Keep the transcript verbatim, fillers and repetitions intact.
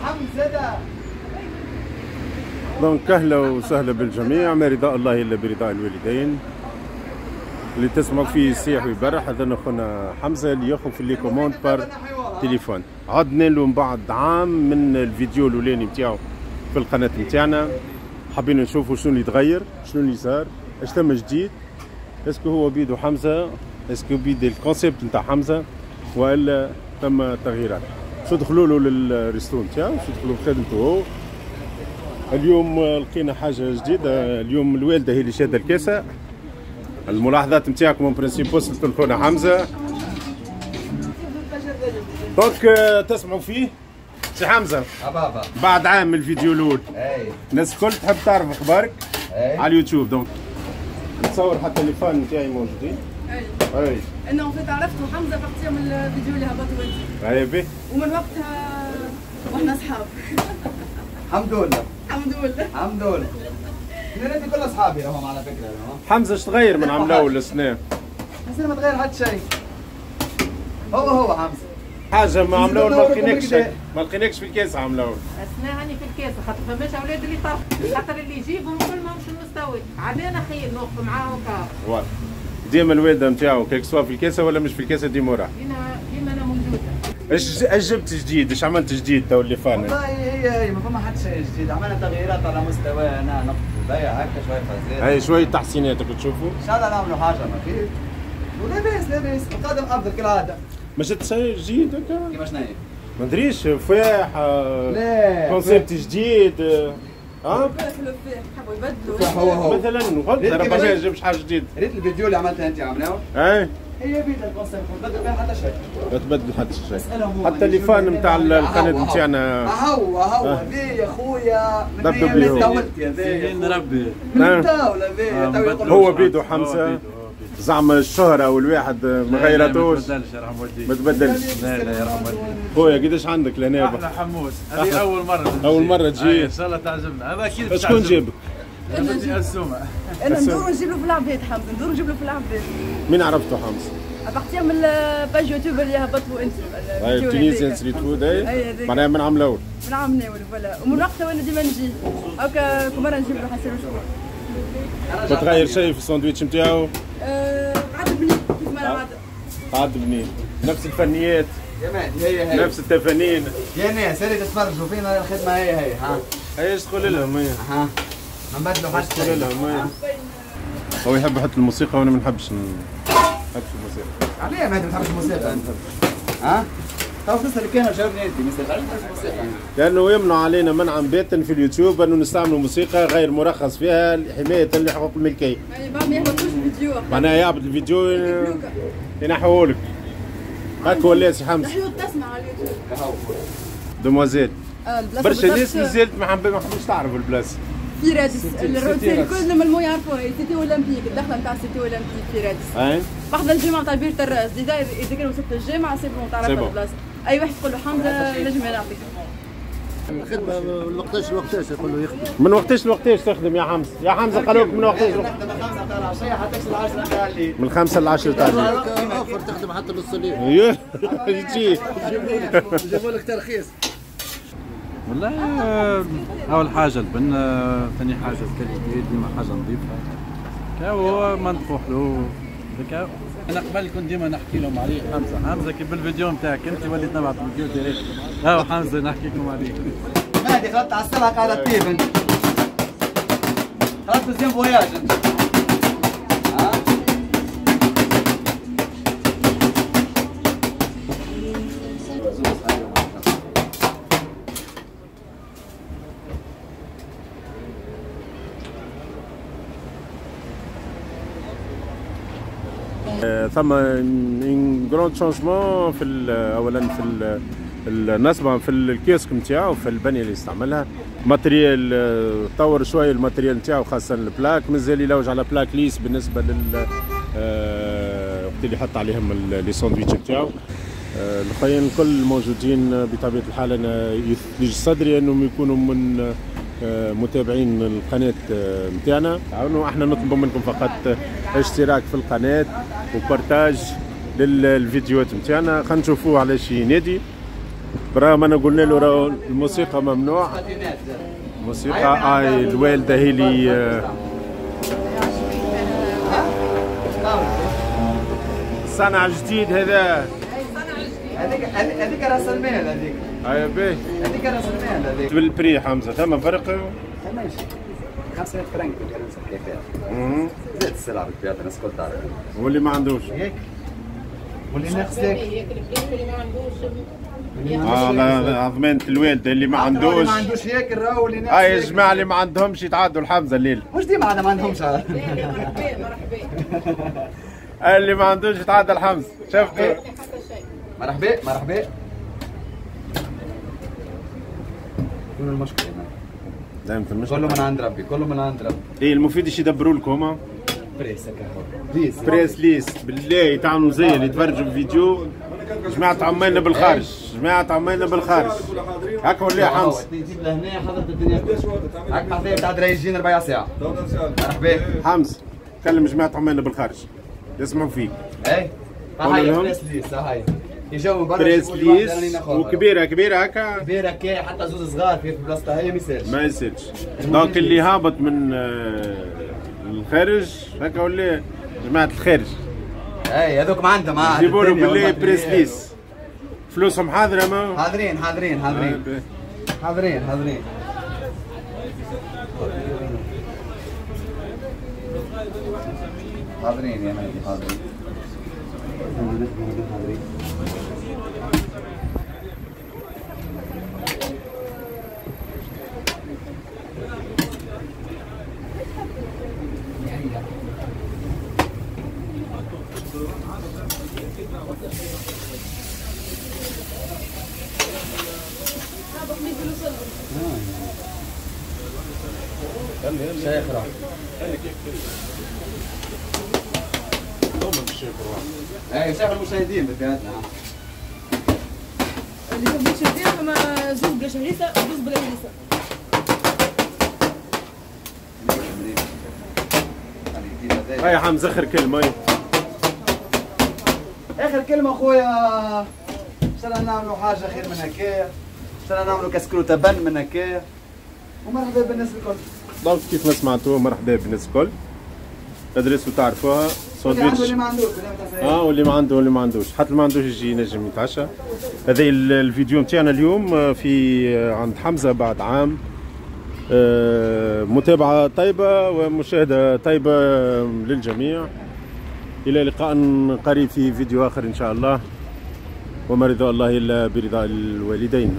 اللحم زاده. donc اهلا وسهلا بالجميع، ما رضاء الله الا برضاء الوالدين. اللي تسمعوا فيه يصيح ويبرح هذا خونا حمزة اللي ياخذ في les commandes par téléphone. عدنا له من بعد عام من الفيديو الاولاني نتاعو في القناة نتاعنا، حابين نشوفوا شنو اللي تغير، شنو اللي صار، اش ثم جديد، est-ce que هو بيدو حمزة، est-ce que بيد ال concept نتاع حمزة والا ثم تغييرات. شو دخلوا له لل resto نتاعو، شو دخلوا بخدمته هو. اليوم لقينا حاجة جديدة، اليوم الوالدة هي اللي شاده الكاسه. الملاحظات نتاعكم en principe وصلت لخونا حمزة. donc تسمعوا فيه سي حمزة بابا بعد عام من الفيديو الاول. اي الناس الكل تحب تعرف اخبارك على اليوتيوب. donc نتصور حتى les fans نتاعي موجودين. اي اي انا en fait عرفت حمزة à partir من الفيديو اللي هبطوا انت. اي بي ومن وقتها واحنا اصحاب. الحمد لله الحمد لله الحمد لله. انا كل اصحابي راهم على فكرة. حمزة اش تغير من عام الاول للسنة؟ السنة ما تغير حتى شيء، هو هو حمزة. حاجة ما عام الاول ما لقيناكش، ما لقيناكش في الكاس عام الاول. السنة هاني في الكاس خاطر فماش اولاد اللي طرف، خاطر اللي يجيبهم كل ماهمش المستوى، عادانا خير نوقف معاهم كا. voilà ديما الوالدة نتاعو que ce soit في الكاسه ولا مش في الكاسه ديما وراه. ديما ديما انا موجودة. اش اش جبت جديد؟ اش عملت جديد تو اللي فان؟ والله هي هي ما فما حتى شيء جديد، عملنا تغييرات على مستوى انا نقطة البيع هكا شوية فازات. هاي شوية تحسينات تشوفوا. ان شاء الله نعملوا حاجة ما خير. ولاباس لاباس، القادم افضل كالعادة. ما جبت شيء جديد هكا؟ كيما شنو هي؟ ما ندريش فاح لا concept جديد. اه حبوا يبدلوا هو هو مثلا غلط راه ما جابش حاجة جديدة. ريت الفيديو اللي عملتها انت عملناه؟ اي هي بيد ال concept ما تبدل فيها حتى شيء. ما تبدل حتى شيء. حتى les fans نتاع القناة نتاعنا. هو هو ذي يا خويا من طولت يا ذي ربي من طاولة ذي. هو بيدو حمزة زعما الشهرة والواحد ما غيراتوش. ما تبدلش يرحم والديك. ما تبدلش. لا لا يرحم والديك. خويا قداش عندك لهنا؟ احنا حموس هذه أول مرة. أول مرة تجي. إن شاء الله تعجبنا. هذا أكيد. شكون جابك؟ أنا السومة. أنا ندور ونجيب له في العباد حمزة، ندور ونجيب له في العباد. مين عرفته حمزة؟ à partir من ال page يوتيوب اللي هبطوا أنت. أي Tunisian Street Food أي معناها من عام الأول. من عام الأول voilà، ومن وقتها وأنا ديما نجي. هكا كل مرة نجيب له حسير وشكون. ما تغير شيء في الساندويتش نتاعو؟ قعد بنين كيف ما العادة. قعد بنين، نفس الفنيات. يا مهدي هي هي. نفس التفانين. يا ناس اللي تتفرجوا فينا الخدمة هي هي ها. هي اش تقول لهم هي؟ ها. ما نبدلوا حتى شيء. تقول لهم هي. هو يحب يحط الموسيقى وانا ما نحبش ما نحبش الموسيقى. علاه مهدي ما تحبش الموسيقى انت؟ ها؟ تو تسأل كان جاوبني انت ما يسالش علاش ما تحبش الموسيقى؟ لانه يمنع علينا منعا باتا في اليوتيوب انه نستعملوا موسيقى غير مرخص فيها حماية لحقوق الملكية. يعني بعد ما يهبطوش الفيديو. معناها يهبط الفيديو ينحوه لك. هاك ولا سي حمزة. نحيو تسمع على اليوتيوب. demoiselle. برشا ناس مازالت ما حبوش تعرف البلاصة. في رادس الروتين الكل normalement يعرفوها، Cité Olympique، الدخلة نتاع Cité Olympique في رادس. اي بحذا الجامعة نتاع بير تراس، déjà اذا كان وصلت للجامعة c'est bon تعرف البلاصة، اي واحد تقول له حمزة نجم يعطيك. الخدمة من وقتاش لوقتاش يقول له يخدم. من وقتاش لوقتاش تخدم يا حمزة؟ يا حمزة قالوا لك من وقتاش لوقتاش؟ نخدم من خمسة نتاع العشية حتى العشرة نتاع الليل. من خمسة للعشرة تاع الليل. اوفر تخدم حتى نص الليل. يجي يجيبوا لك ترخيص. والله اول حاجة البن، ثاني حاجة ال qualité ديما حاجة نظيفة، هو منطقة حلو. انا قبل كنت ديما نحكي لهم عليه حمزة، حمزة كي بالفيديو نتاعك انت وليت نبعث فيديو direct، هاو حمزة نحكي لكم عليه. مهدي خلطت على السلعة قاعدة تطيب انت. خلطت deuxième voyage انت. ها؟ ثم un grand changement في اولا في النصبه في الكيوسك نتاعو، في البنية اللي يستعملها، matériel طور شوية ال matériel نتاعو خاصة ال plaques، مازال يلوج على plaques lisses بالنسبة لل وقت اللي يحط عليهم les sandwichs نتاعو. الاخرين الكل موجودين بطبيعة الحال. انا يثلج صدري انهم يكونوا من متابعين القناة نتاعنا. احنا نطلب منكم فقط اشتراك في القناة و partage للفيديوهات نتاعنا. خلينا نشوفوه على شي نادي. برغم انا قلنا له راهو الموسيقى ممنوع. الموسيقى اي الوالدة هي اللي صنع جديد هذا. هذيك هذيك راس المال هذيك. اي باهي. هذيك راس المال هذيك. بال prix حمزة ثم فرق؟ ثماش خمسمية فرنك كيفاه. زاد السلعة بالطبيعة الناس الكل تعرف. واللي ما عندوش. ياك. واللي ناقص ياك. واللي ما عندوش. اه لا ضمانة الوالدة اللي ما عندوش. اللي ما عندوش ياكل راهو اللي ناقص. اه يا جماعة اللي ما عندهمش يتعدوا الحمزة الليل. مش ديما عاد ما عندهمش. مرحبا مرحبا. اللي ما عندوش يتعدى الحمزة، شفتوا؟ مرحبا مرحبا. وين المشكلة؟ لا المشكلة كله من عند ربي، كله من عند ربي. ايه المفيد ايش يدبروا لكم هما؟ presse هكا presse lisse بالله تعملوا زي اللي يتفرجوا في الفيديو. جماعة عمالنا بالخارج، جماعة عمالنا بالخارج. هكا ولا يا حمزة؟ تجيب لهنا حضرت الدنيا. هاك بحذايا تاع درايجين ربع ساعة. مرحبا. حمزة كلم جماعة عمالنا بالخارج يسمعوا فيك. اي هاي presse lisse هاي. يجاو من برا presse lisse وكبيره كبيرة هكا كبيرة كي حتى زوز صغار في بلاصتها هي ما يسالش ما يسالش. donc اللي هابط من الخارج هكا ولا جماعة الخارج اي هذوك ما عندهم جيبوا له بالله presse lisse فلوسهم حاضره ما حاضرين حاضرين حاضرين حاضرين حاضرين. حاضرين يا مهدي حاضرين حاضرين. شيخ راح اي شيخ المشاهدين بتاعتنا اللي هو المشاهدين فما زوج بلا شهريسه وزوج بلا هريسه. هاي حمزة اخر كلمة. اخر كلمة خويا ان شاء الله نعملوا حاجة خير من هكايا، ان شاء الله نعملوا كسكروته بن من هكايا ومرحبا بالناس الكل. donc كيف ما سمعتوا مرحبا بالناس الكل. l'adresse تعرفوها ساندويتش اللي ما عندوش اه واللي ما عنده واللي ما عندوش حتى اللي ما عندوش يجي ينجم يتعشى. هذا الفيديو نتاعنا اليوم في عند حمزة بعد عام. متابعه طيبة ومشاهدة طيبة للجميع. الى لقاء قريب في فيديو اخر ان شاء الله، وما رضا الله الا برضا الوالدين.